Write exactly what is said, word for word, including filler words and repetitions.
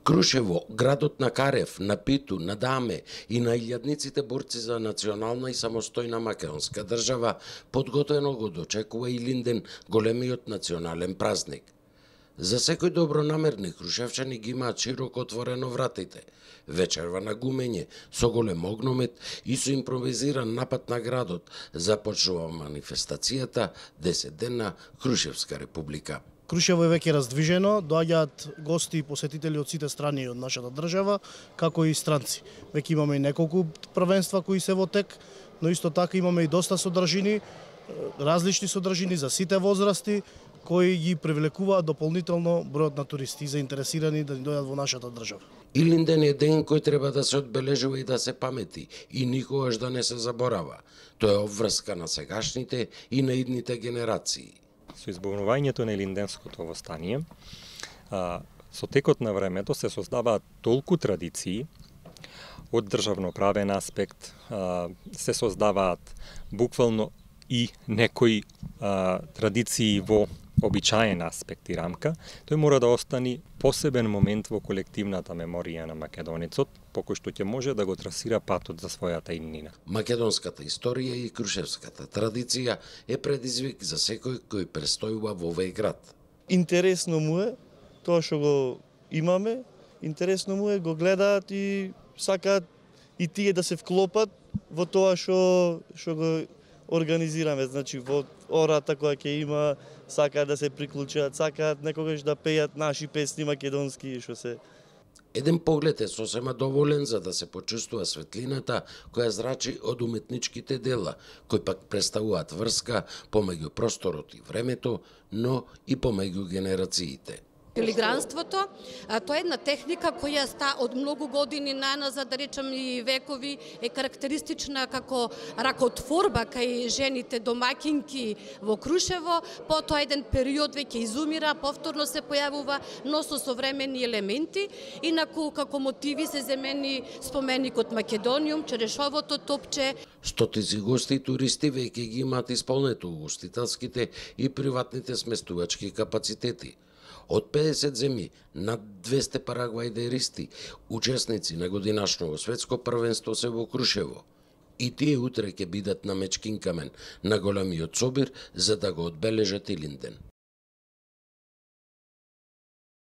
Крушево, градот на Карев, на Питу, на Даме и на илјадниците борци за национална и самостојна македонска држава, подготвено го дочекува Илинден, големиот национален празник. За секој добронамерни крушевчани ги имаат широко отворено вратите. Вечерва на гумење, со голем огномет и со импровизиран напад на градот, започнува манифестацијата десетдневна Крушевска република. Крушево е веќе раздвижено, доаѓаат гости и посетители од сите страни од нашата држава, како и странци. Веќе имаме и неколку првенства кои се во тек, но исто така имаме и доста содржини, различни содржини за сите возрасти, кои ги привлекуваат дополнително бројот на туристи заинтересирани да ни дојдат во нашата држава. Илинден е ден кој треба да се одбележува и да се памети и никогаш да не се заборава. Тоа е обврска на сегашните и на идните генерации. Со избавувањето на Илинденското востание, со текот на времето се создаваат толку традиции од државноправен аспект, се создаваат буквално и некои традиции во обичаен аспект и рамка, тој мора да остани посебен момент во колективната меморија на македонецот, по кој што ќе може да го трасира патот за својата иднина. Македонската историја и крушевската традиција е предизвик за секој кој престојува во овој град. Интересно му е тоа што го имаме, интересно му е, го гледаат и сакаат и тие да се вклопат во тоа што што го организираме, значи во ората која ќе има, сакаат да се приклучат, сакаат некогаш да пеат наши песни македонски, што се. Еден поглед е сосема доволен за да се почувствува светлината која зрачи од уметничките дела, кои пак представуваат врска помеѓу просторот и времето, но и помеѓу генерациите. Филигранството, тоа е една техника која ста од многу години наназад, да речем и векови, е карактеристична како ракотворба кај жените домакинки во Крушево, потоа еден период веќе изумира, повторно се појавува, но со современи елементи, инаку како мотиви се земени споменикот Македониум, черешовото топче. Стотици гости и туристи веќе ги имаат исполнето угостителските и приватните сместувачки капацитети. Од педесет земји, над двесте парагвајдеристи, учесници на годинашното светско првенство се во Крушево. И тие утре ќе бидат на Мечкин камен, на големиот собир, за да го одбележат Илинден.